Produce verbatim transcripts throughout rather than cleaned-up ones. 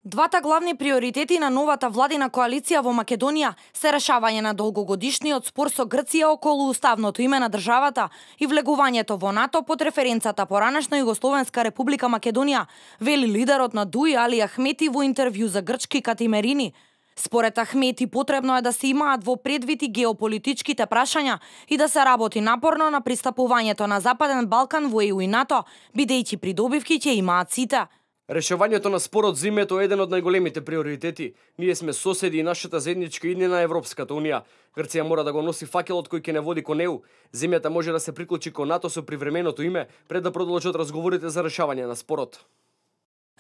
Двата главни приоритети на новата владина коалиција во Македонија се решавање на долгогодишниот спор со Грција околу уставното име на државата и влегувањето во НАТО под референцата поранешна Југословенска република Македонија, вели лидерот на ДУИ Али Ахмети во интервју за грчки Катимерини. Според Ахмети потребно е да се имаат во предвид и геополитичките прашања и да се работи напорно на пристапувањето на Западен Балкан во Е У и НАТО, бидејќи придобивки ќе имаат сите. Решавањето на спорот за името е еден од најголемите приоритети. Ние сме соседи и нашата заедничка иднина на Европската унија. Грција мора да го носи факелот кој ќе не води кон Е У. Земјата може да се приклучи кон НАТО со привременото име пред да продолжат разговорите за решавање на спорот.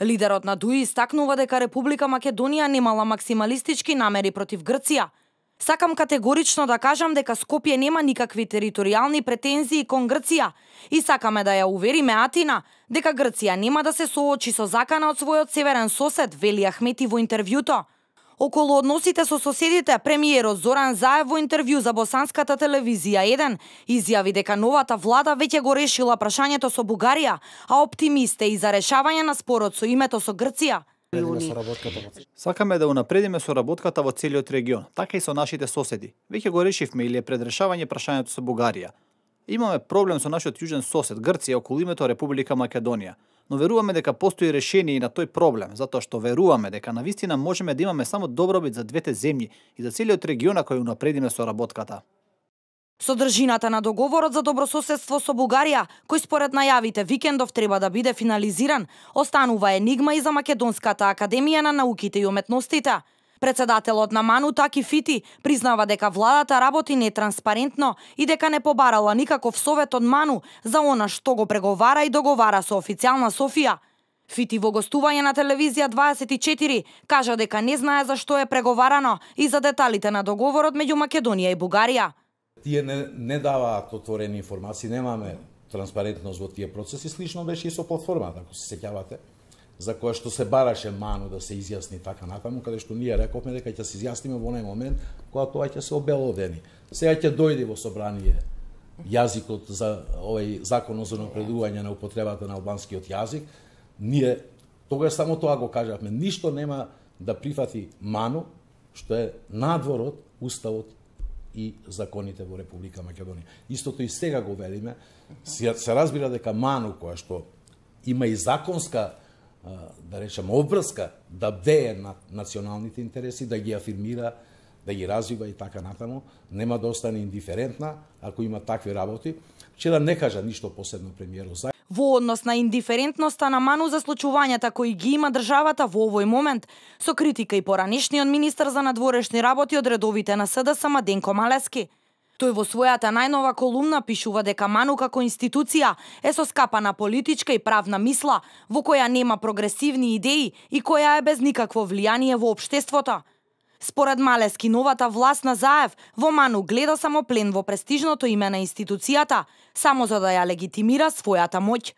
Лидерот на ДУИ истакнува дека Република Македонија немала максималистички намери против Грција. Сакам категорично да кажам дека Скопје нема никакви територијални претензии кон Грција и сакаме да ја увериме Атина дека Грција нема да се соочи со закана од својот северен сосед, вели Ахмети во интервјуто. Околу односите со соседите, премиерот Зоран Заев во интервју за босанската телевизија еден изјави дека новата влада веќе го решила прашањето со Бугарија, а оптимист е и за решавање на спорот со името со Грција. Сакаме да унапредиме соработката во целиот регион, така и со нашите соседи. Веќе го решивме или е пред решавање прашањето со Бугарија. Имаме проблем со нашиот јужен сосед Грција околу името Република Македонија, но веруваме дека постои решение и на тој проблем, затоа што веруваме дека навистина можеме да имаме само добробит за двете земји и за целиот регион ако ја унапредиме соработката. Содржината на договорот за добрососедство со Бугарија, кој според најавите викендов треба да биде финализиран, останува енигма и за Македонската академија на науките и уметностите. Председателот на МАНУ Таки Фити признава дека владата работи нетранспарентно и дека не побарала никаков совет од МАНУ за она што го преговара и договара со официјална Софија. Фити во гостување на телевизија дваесет и четири кажа дека не знае за што е преговарано и за деталите на договорот меѓу Македонија и Бугарија. Тие не, не даваат отворени информации, немаме транспарентност во тие процеси, слично беше и со платформата, ако се сеќавате, за која што се бараше МАНУ да се изјасни така натаму, каде што ние рековме дека ќе се изјасниме во онај момент кога тоа ќе се обелодени. Сега ќе дојде во собрание јазикот за овој закон за напредување на употребата на албанскиот јазик. Ние тогаш само тоа го кажавме, ништо нема да прифати МАНУ што е надвор од уставот и законите во Република Македонија. Истото и сега го велиме, се, се разбира дека МАНУ која што има и законска, да речем, обврска да бдее на националните интереси, да ги афирмира, да ги развива и така натаму, нема да остане индиферентна ако има такви работи. Вчера не кажа ништо посебно премиерот Заев. Во однос на индиферентноста на МАНУ за случувањата кои ги има државата во овој момент, со критика и поранешниот министер за надворешни работи од редовите на С Д С Младенко Малески. Тој во својата најнова колумна пишува дека МАНУ како институција е соскапана политичка и правна мисла, во која нема прогресивни идеи и која е без никакво влијание во општеството. Според Малески, новата власт на Заев во МАНУ гледа само плен во престижното име на институцијата, само за да ја легитимира својата моќ.